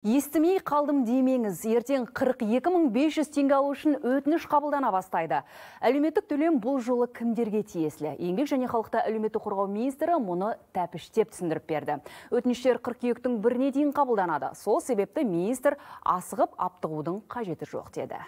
Естімей қалдым демеңіз, ертең 42.500 теңге алу үшін өтініш қабылдана бастайды. Әлеуметтік төлем бұл жолы кімдерге тиесілі? Еңбек және халықты әлеуметтік қорғау министрі мұны тәпіштеп түсіндіріп берді. Өтініштер қыркүйектің 1-не дейін қабылданады. Сол себепті министр асығып аптығудың қажеті жоқ деді.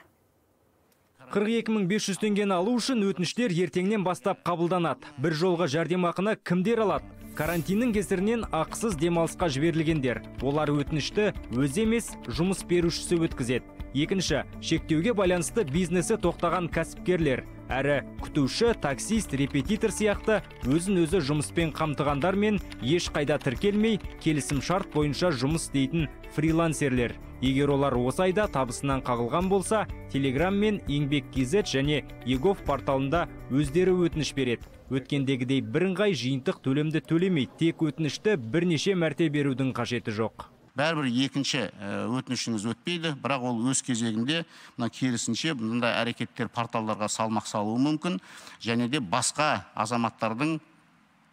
42.500 теңгені алу үшін өтініштер ертеңнен бастап қабылданады. Bir жолға жәрдемақыны кімдер алады? Карантиннің кесірінен ақысыз демалысқа жіберілгендер. Олар өтінішті өзі емес, жұмыс берушісі өткізеді. Екінші, шектеуге байланысты бизнесі тоқтаған кәсіпкерлер. Әрі күтуші, таксист, репетитор сияқты өзін-өзі жұмыспен қамтығандар мен ешқайда тіркелмей, келісім шарт бойынша жұмыс істейтін фрилансерлер. Егер олар осы айда табысынан қағылған болса, Telegram мен Еңбек.kz және Егов порталында өздері өтініш береді. Өткендегідей бірыңғай жиынтық төлемді төлемейді, тек өтінішті бірнеше мәрте берудің қажеті жоқ. Бәрібір екінші өтінішіңіз өтпейді, бірақ ол өз кезегінде керісінше бұндай әрекеттер порталдарға салмақ салуы мүмкін, және де басқа азаматтардың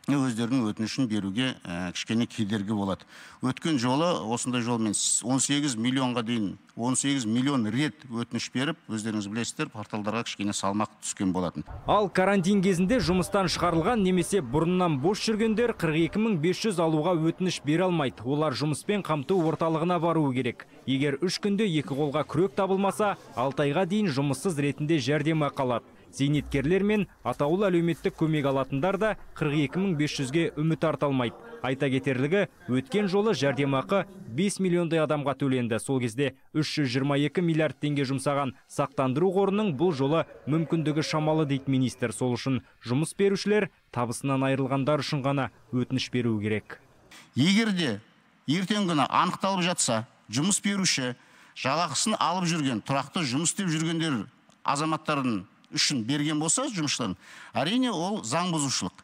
өздерінің өтінішін беруге кішкене кедергі болады. Өткен жолы осындай жолмен 18 миллионға дейін 18 миллион рет өтініш беріп, өздеріңіз білесіздер, порталдарға кішкене салмақ түскен болатын. Ал карантин кезінде жұмыстан шығарылған немесе бұрыннан бос жүргендер 42.500 алуға өтініш бере алмайды. Олар жұмыспен қамту орталығына баруы керек. Егер 3 күнде 2 қолға күрек табылмаса, 6 айға дейін жұмыссыз ретінде жәрдемақы алады. Зейнеткерлер мен атаулы әлеуметтік көмек алатындар да 42.500-ге үміт арта алмайды. Айта кетерлігі, өткен жолы жәрдемақы 5 миллиондай адамға төленді. Сол кезде 322 миллиард теңге жұмсаған сақтандыру қорының бұл жолы мүмкіндігі шамалы дейді министр. Сол үшін жұмыс берушілер табысынан айырылғандар үшін ғана өтініш беру керек. Егер де ертең күні анықталып жатса, жұмыс беруші жалақысын алып жүрген, тұрақты жұмыс істеп жүргендер азаматтардың үшін берген болса жұмысшыларын, әрине ол заң бұзушылық.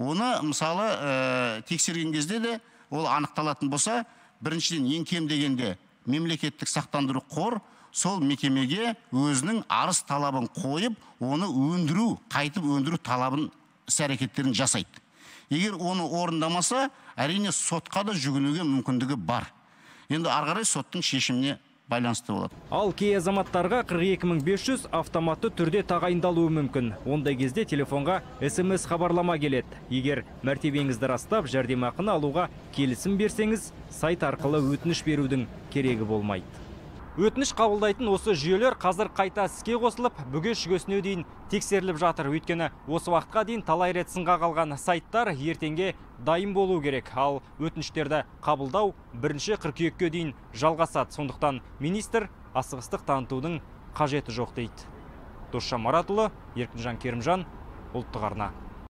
Оны мысалы тексерген кезде де ол анықталатын болса, біріншіден ең кем дегенде мемлекеттік сақтандыру қор сол мекемеге өзінің арыз талабын қойып, оны қайтып өндіру талабын іс-әрекеттерін жасайды. Егер оны орындамаса, әрине сотқа да жүгінуге мүмкіндігі бар. Енді ары қарай соттың шешіміне байланысты болады. Ал кей азаматтарға 42.500 автоматты түрде тағайындалуы мүмкін. Ондай кезде телефонға SMS хабарлама келеді. Егер мәртебеңізді растап, жәрдемақыны алуға келісім берсеңіз, сайт арқылы өтініш берудің керегі болмайды. Өтініш қабылдайтын осы жүйелер қазір қайта іске қосылып, бүге-шүгесіне дейін тексеріліп жатыр. Өйткені осы уақытқа дейін талай рет сынға қалған сайттар ертеңге дайын болу керек. Ал өтініштерді қабылдау 1 қыркүйекке дейін жалғасады. Сондықтан министр асығыстық танытудың қажеті жоқ дейді. Досжан Маратұлы, Еркінжан Керімжан, Ұлттық арна.